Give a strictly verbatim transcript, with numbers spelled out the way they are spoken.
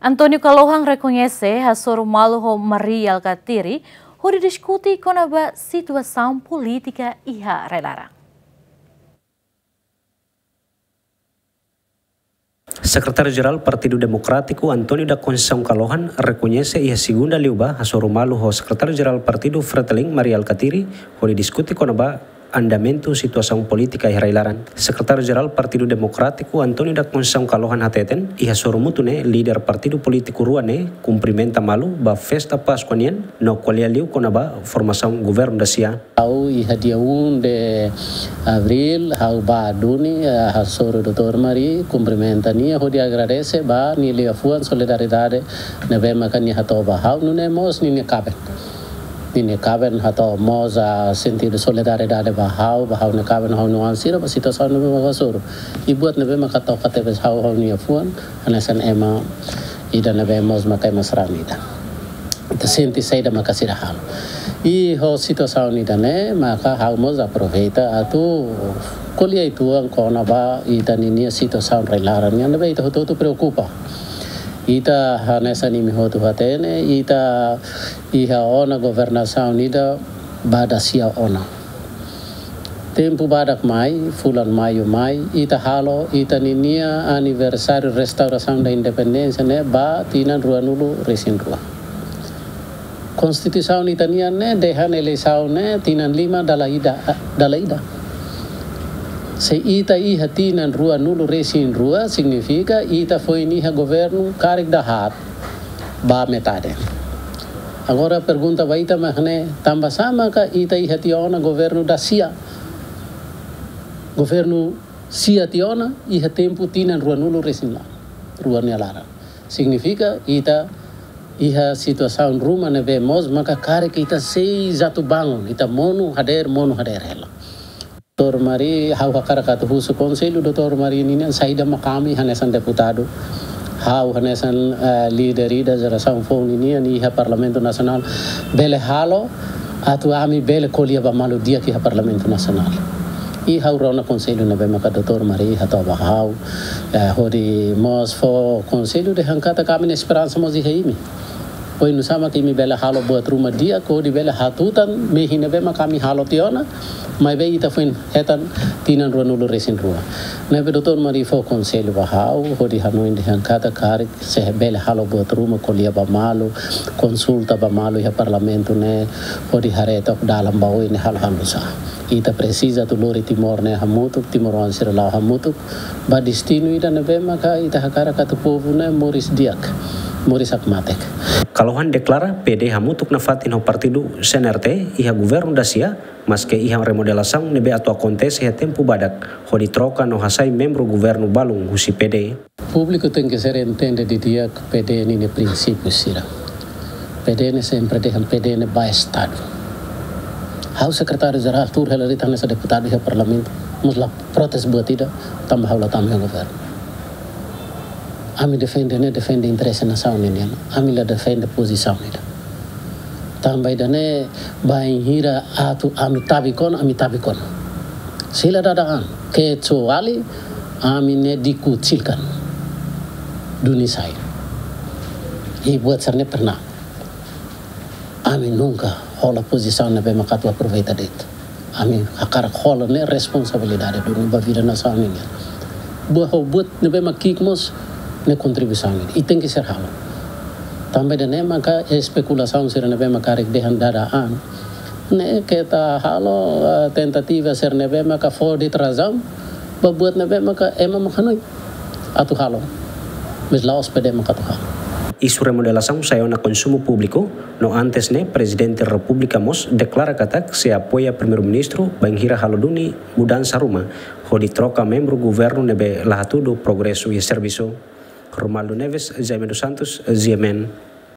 António Kalohan rekoñese hasoru malu ho Mari Alkatiri hodi diskute kona-ba situasaun polítika iha rai-laran. Sekretáriu Jerál Partidu Demokrátiku, António da Conceição Kalohan, rekoñese iha Segunda liubá hasoru malu ho Sekretáriu Jerál Partidu Fretilin, Mari Alkatiri, hodi diskute kona-ba andamentu situasaun polítika iha rai-laran. Sekretáriu Jerál Partidu Demokrátiku, António da Conceição Kalohan, hateten, iha sorumutu ne'e líder partidu polítiku rua ne'e kumprimenta malu ba festa Páskua nian no ko'alia liu kona-ba formasaun governu dasia. Ha'u iha dia um de abril, ha'u bá duni, eh, hasoru doutór Mari, kumprimenta nia, hodi agradese ba nia liafuan solidariedade ne'ebé maka nia hato'o ba ha'u, nune'e mós ninia kaben. Ninia kaben hato'o mós, ah, sentidu solidariedade ba ha'u, ba ha'u-nia kaben, ha'u-nia oan sira, ba situasaun ne'ebé maka hasoru. I buat ne'ebé maka toka tebes ha'u, ha'u-nia fuan, hanesan ema ida ne'ebé mós maka ema sarani ida. Ita sente saida maka sira halo. I ho situasaun ida-ne'e, maka ha'u mós aproveita atu ko'alia uitoan kona-ba ita ninia situasaun rai-laran nian ne'ebé ita hotu-hotu preokupa. Ita hanesan imi hotu hatene, ita iha ona governasaun ida ba dasia ona. Tempu badak mai, fulan Maiu mai, ita halo ita ninia aniversáriu restaurasaun da independénsia ne'e ba tinan ruanulu-resin-rua. Konstituisaun ita-nian ne'e dehan eleisaun ne'e tinan lima dala ida, dala ida. Se ita iha tinan ruanulu-resin-rua, signifika ita foin iha governu karik dahaat ba metade. Agora pergunta ba ita mak ne'e, tanba sá maka ita iha tiha ona governu dasia? Governu sia tiha ona iha tempu tinan ruanulu-resin-rua nia laran. Signifika ita iha situasaun ruma ne'ebé mós maka karik ita sei atu bangun, ita monu hadeer, monu hadeer hela. Doutór Mari, ha'u hakarak atu husu konsellu doutór Mari ninian, saida maka ami hanesan deputadu, ha'u hanesan, eh, líder ida jerasaun foun ninian iha Parlamentu Nasionál bele halo atu ami bele ko'alia ba malu di'ak iha Parlamentu Nasionál. I ha'u rona konsellu ne'ebé maka doutór Mari hato'o ba ha'u, eh, hodi mós fó konsellu dehan katak ami-nia esperansa mós iha imi. Oinsá maka imi bele halo buat ruma di'ak hodi bele hatutan mehi ne'ebé maka ami halo tiha ona, maibé ita foin hetan tinan ruanulu-resin-rua. Ne'ebé doutór Mari fó konsellu ba ha'u, hodi hanoin dehan katak karik se bele halo buat ruma, ko'alia ba malu, konsulta ba malu iha Parlamentu ne'e, hodi haree took dalan ba oin ne'e halo hanu'usá. Ita presiza atu lori Timor ne'e hamutuk, timoroan sira la'o hamutuk ba destinu ida ne'ebé maka ita hakarak atu povu ne'e moris di'ak, moris hakmatek. Kalohan deklara P D hamutuk nafatin ho partidu C N R T iha governu dasia, maske iha remodelasaun ne'ebé atu akontese iha tempu badak, hodi troka no hasai membru governu balun husi P D. Públiku tenke ser entende didi'ak P D ninia prinsípiu sira. P D ne'e sempre dehan P D ne'e ba Estadu. Ha'u sekretáriu jerál tuur hela de'it hanesan deputadu iha Parlamentu, mós la protes buat ida, tanba ha'u la tama iha governu. Ami defende ne'e defende interese nasaun ninian, ami la defende pozisaun ida. Tanba ida-ne'e bainhira atu ami tabik ona, ami tabik ona. Se la dada an, kecuali ami ne'e dikucilkan duni sai. I buat sira-ne'e pernah. Ami nunka hola pozisaun ne'ebé maka atu aproveita de'it. Ami hakarak hola ne'e responsabilidade duni ba vida nasaun ninian. Buat ho buat ne'ebé maka ki'ik mós ne'e kontribuisaun ida. I tenke ser halo. Tanba ida-ne'e maka espekulasaun sira ne'ebé maka karik dehan dada an. Ne'e keta halo, eh, tentativa sira ne'ebé maka fó de'it razaun ba buat ne'ebé maka ema maka hanoin atu halo. Maibé la'ós P D maka atu halo. Isu remodelasaun sai ona konsumu públiku, no antes ne'e Prezidente Repúblika mós deklara katak sei apoia Primeiru-Ministru bainhira halo duni mudansa ruma, hodi troka membru governu ne'ebé la hatudu progresu iha servisu. Romualdo Neves, Jaime dos Santos, G M N.